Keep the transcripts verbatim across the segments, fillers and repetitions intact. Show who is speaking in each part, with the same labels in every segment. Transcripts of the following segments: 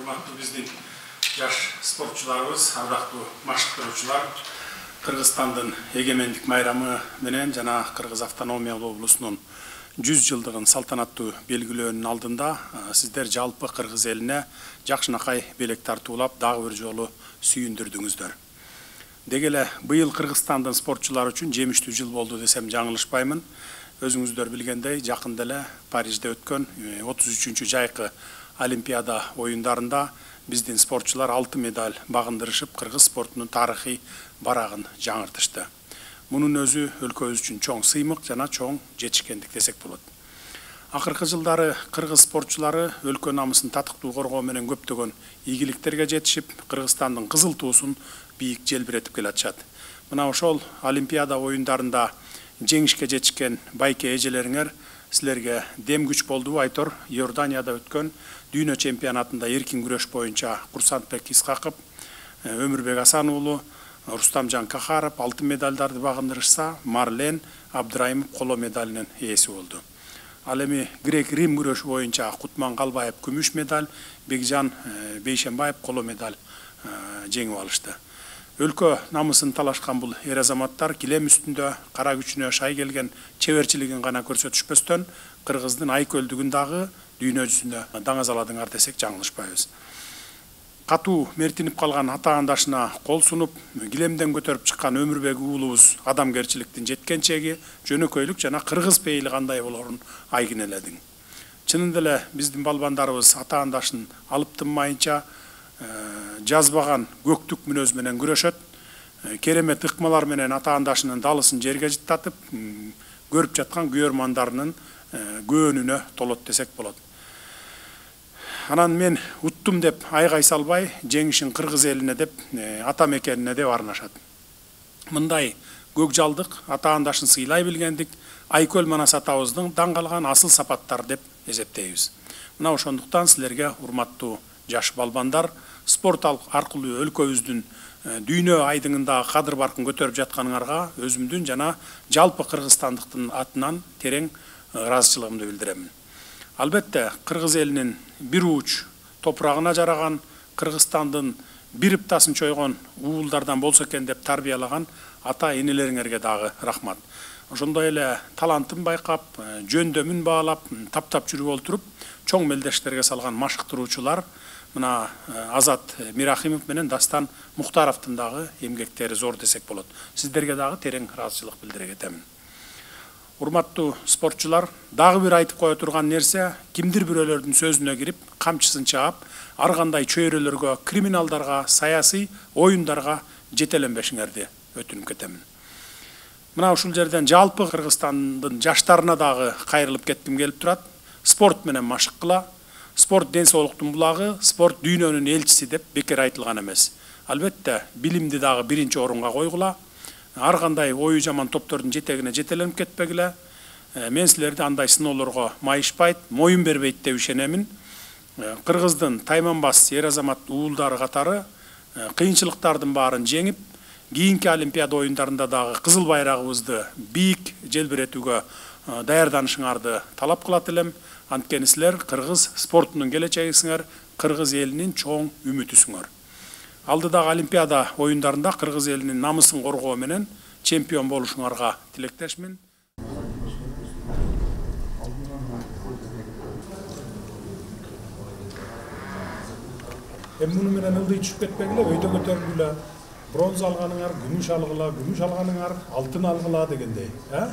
Speaker 1: урматтуу биздин жаш спортчуларыбыз, ардактуу машыктыруучулар, Кыргызстандын эгемендик майрамы менен жана Кыргыз автономиялык облусунун жүз жылдыгын салтанаттуу белгилөөнүн алдында сиздер жалпы Кыргыз элине жакшынакай белек тартуулап, дагы бир жолу сүйүндүрдүңүздөр. Деги эле быйыл Кыргызстандын спортчулары үчүн жемиштүү жыл болду десем жаңылышпаймын. Өзүңүздөр билгендей, жакында эле Парижде өткөн отуз үчүнчү жайкы Олимпиада оюндарында биздин спортчулар алтын медаль багындырышып, кыргыз спортунун тарыхый барагын жаңыртышты. Мунун өзү өлкөбүз үчүн чоң сыймык жана чоң жетишкендик десек болот. Акыркы жылдары кыргыз спортчулары өлкө намысын татыктуу коргоо менен көптөгөн ийгиликтерге жетишип, Кыргызстандын кызыл туусун бийик желбиретип келатышат. Мына ошол Олимпиада оюндарында жеңишке жетишкен байке эжелериңер силерге дем күч болдубу айтор. Иорданияда өткөн дүйнө чемпионатында эркин күрөш боюнча Курсантбек Исхаков, Өмүрбек Асан уулу, Рустамжан Кахаров алтын медалдарды багындырышса, Марлен Абдраимов коло медалынын ээси болду. Ал эми грек-рим күрөшү боюнча Кутман Калбаев күмүш медаль, Бекжан Бейшенбаев коло медаль жеңип алышты. Өлкө намысын талашкан бул эр азаматтар килем үстүндө кара күчүнө шай келген чеберчилигин гана көрсөтүшпөстөн, Кыргыздын айкөлдүгүн дагы дүйнө жүзүндө даңазаладыңар десек жаңылышпайбыз. Катуу мертинип калган ата-андашына кол сунуп, килемден көтөрүп чыккан Өмүрбек уулубуз адамгерчиликтин жеткен чеги, жөнөкөйлүк жана кыргыз пейили кандай болорун айгин эледиң. Чынында эле биздин балбандарыбыз ата-andашын алып тынмайынча жазбаган көктүк мүнөз менен күрөшөт. Керемет ыкмалар менен ата-andашынын далысын жерге жыттатып, көрүп жаткан күйөрмандарынын көөнүнө толот десек болот. Анан мен уттум деп айгай салбай, жеңишин кыргыз элине деп, ата мекенине деп арнашат. Мындай көкжалдык, ата-andашын сыйлай билгендик Айкөл Манас атабыздын даңгалган асыл сапаттар деп эсептейбиз. Мына ошондуктан силерге урматтуу жаш балбандар, спорт аркылуу өлкөбүздүн дүйнө айдыңындагы кадыр баркын көтөрүп жатканыңарга өзүмдүн жана жалпы кыргызстандыктын атынан терең ыраазычылыгымды билдирем. Албетте, кыргыз элинин бир уч топурагына жараган, Кыргызстандын бир ыптасын чойгон уулдардан болсо экен деп тарбиялаган ата-энелериңерге дагы рахмат. Ошондой эле талантын байкап, жөндөмүн баалап, таптап жүрүп олтуруп, чоң мелдештерге салган машыктыруучулар, мына Азат Мирахимов менен Дастан Мухтаровдун дагы эмгектери зор десек болот. Сиздерге дагы терең ыраазычылык билдире кетем. Урматтуу спортчулар, дагы бир айтып кое турган нерсе, кимдир бирөөлөрдүн сөзүнө кирип, камчысын чаап, ар кандай чөйрөлөргө, криминалдарга, саясий оюндарга жетеленбешиңерди өтүнүп кетем. Мына ушул жерден жалпы Кыргызстандын жаштарына дагы кайрылып кетким келип турат. Спорт менен машык кыла. Спорт ден соолуктун булагы, спорт дүйнөнүн элчиси деп бекер айтылган эмес. Албетте, билимди дагы биринчи орунга койгула. Ар кандай ою жаман топтордун жетегине жетеленип кетпегиле. Мен силерди андай сыноолорго майышпайт, моюн бербейт деп ишенемин. Кыргыздын тайманбас эр азамат уулдары катары кыйынчылыктардын баарын жеңип, кийинки Олимпиада оюндарында дагы кызыл байрагыбызды бийик желбиретүүгө даярданышыңарды талап кылат элем. Анткени силер кыргыз спортунун келечегисиңер, кыргыз элинин чоң үмүтүсүңөр. Алдыдагы Олимпиада оюндарында кыргыз элинин намысын коргоо менен чемпион болушуңарга тилектешмин. Эми муну менен ылдый түшүп кетпегиле, өйдө көтөрүлгүлө. Бронза алганыңар, күмүш алгыла, күмүш алганыңар, алтын алгыла дегендей, э?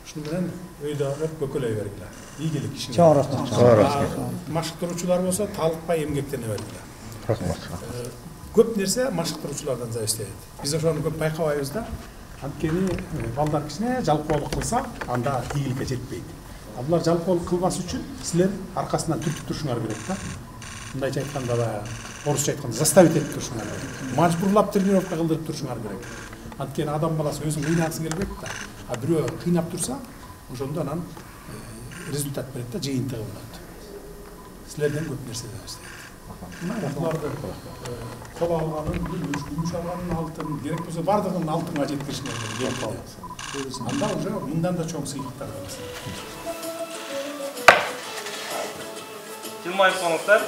Speaker 1: Ушуну менен өйдө көкөлөй бергиле. Ийгилик ишиңер. Чоң рахмат. Машыктыруучулар болсо талыкпай эмгектене бергиле. Рахмат. Көп нерсе машыктыруучулардан зависит этет. Биз ошону көп байкабайбыз да. Анткени балдар кичине жалпоолук кылса, анда ийгиликке жетпейт. А булар жалпоолук кылбас үчүн силер аркасынан түртүп турушуңар керек да. Мындайча айтканда, орусча айтканда заставить этип турушуңар керек. Мажбурлап тренировка кылдырып турушуңар керек. Анткени адам баласы өзүн кыйнагысы келбейт да. А бирөө кыйнап турса, ошондо анан результат берет да, жыйынтыгы болот. Силерден көп нерсе да. Буларды кол алганын, күмүш алганын, алтын, керек болсо бардыгын алтынга жеткиришиңер керек. Анда уже мындан да чоң сыйлыктар аласың. Жылмайып коңуздар.